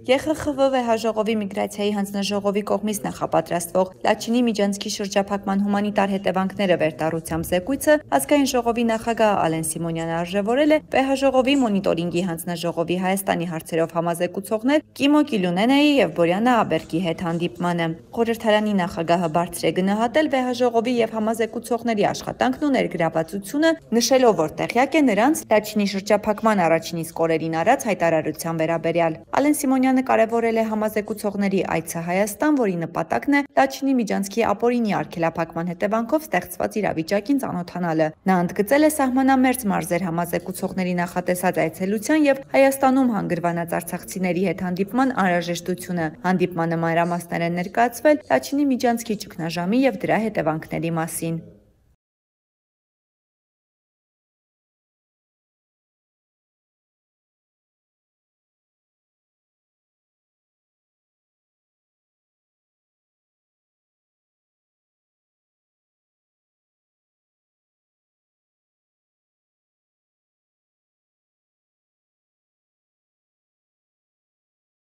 ԵԽԽՎ վեհաժողովի միգրացիայի հանձնաժողովի կողմից նախապատրաստվող Լաչինի Միջանցքի շրջափակման հումանիտար հետևանքները վերտառությամբ զեկույցը ազգային ժողովի նախագահ Ալեն Սիմոնյանը արժևորել է վեհաժողովի մոնիտորինգի հանձնաժողովի Հայաստանի հարցերով համազեկուցողներ Կիմո Կիլյունենայի եւ Բորյանա Աբերկի հետ հանդիպմանը։ Խորհրդարանի նախագահը բարձր է գնահատել վեհաժողովի եւ համազեկուցողների աշխատանքն ու ներգրավվածությունը, նշելով, որ տեղյակ է նրանց Լաչինի շրջափակման առաջին իսկ օրերին արած հայտարարության վերաբերյալ։ Ալեն Սիմոնյանը կարևորել է համազեկուցողների այցը Հայաստան, որի նպատակն է Լաչինի Միջանցքի ապօրինի արգելափակման հետևանքով ստեղծված իրավիճակին ծանոթանալը։ Նա ընդգծել է սահմանամերձ մարզեր համազեկուցողների նախատեսած այցելության եւ Հայաստանում հանգրվանած արցախցիների հետ հանդիպման անհրաժեշտությունը։ Հանդիպմանը մանրամասներ են ներկայացվել Լաչինի Միջանցքի ճգնաժամի եւ դրա հետևանքների մասին։